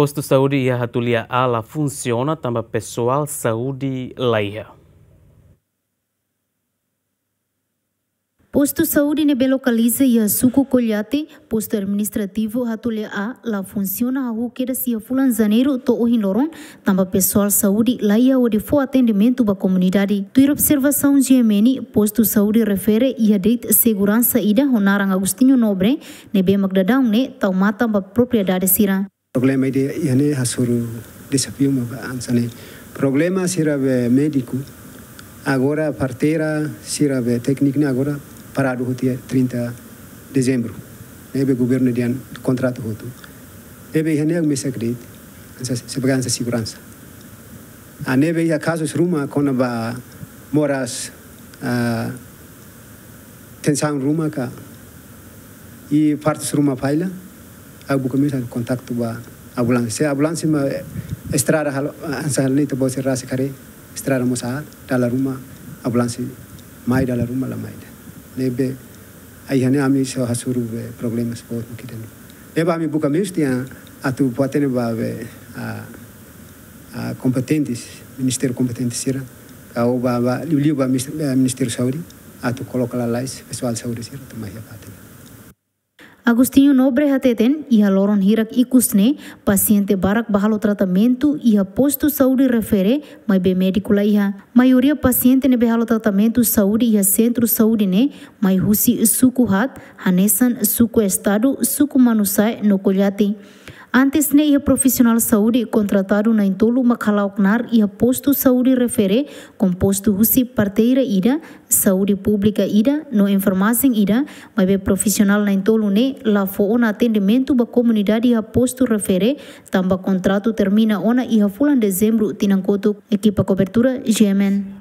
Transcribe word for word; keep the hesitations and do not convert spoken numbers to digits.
Postu saúde iha Hatulia A la funsiona tanba pesoál saúde laiha. Postu saúde ne'ebé lokaliza iha suku Koilate, postu administrativu Hatulia A, la funsiona hahú kedas iha fulan Janeiru to'o ohin loron, tanba pesoál saúde laiha hodi fó atendimentu ba komunidade. Tuir observasaun G M N, postu saúde refere iha de'it seguransa ida ho naran Agostinho Nobre, ne'ebé mak daudaun ne'e tau matan ba propriedade sira. Problema ida iha ne'e hasoru dezafiu mak ba hanesan ne'e. Problema sira be médiku, agora parteira sira be tékniku ne'e agora paradu hotu iha trinta dezembru. Ne'ebé governu dehan kontratu hotu. Ne'ebé iha ne'e mesak de'it, hanesan, sebagai hanesan seguransa. Ah, ne'ebé iha kazus ruma kona-ba moras, ah, tensaun ruma ka, i partus ruma falla, ha'u buka meius kontaktu ba ambulánsia. Se ambulánsia mak estrada halo, hanesan halo ne'e ita-boot sira rasik haree, estrada mós aat, dala ruma, ambulánsia mai dala ruma la mai ida. Ne'ebé, iha ne'e ami só hasoru be problemas boot mak ida-ne'e. Ne'ebé ami buka meius tiha atu fó-hatene ba be, ah, ah, kompetentes, ministériu kompetente sira, ka ba, ba, liuliu ba mis-, eh, Ministériu Saúde, atu koloka lalais pesoál saúde sira atu mai iha fatin. Agostinho Nobre hateten, iha loron hirak ikus ne'e, pasiente barak bá halo tratamentu iha postu saúde refere, maibé médiku laiha. Maioria pasiente ne'ebé halo tratamentu saúde iha sentru saúde ne'e, mai husi suku haat, hanesan suku Estadu, suku Manusai, no Koilate. Antes ne'e iha profisionál saúde kontratadu na'in-tolu mak hala'o knaar iha postu saúde refere, kompostu husi parteira ida, saúde públika ida, no enfermajen ida, maibé profisionál na'in-tolu ne'e la fó ona atendimentu ba komunidade iha postu refere, tanba kontratu termina ona iha fulan Dezembru tinan kotuk. Ekipa kobertura, G M N.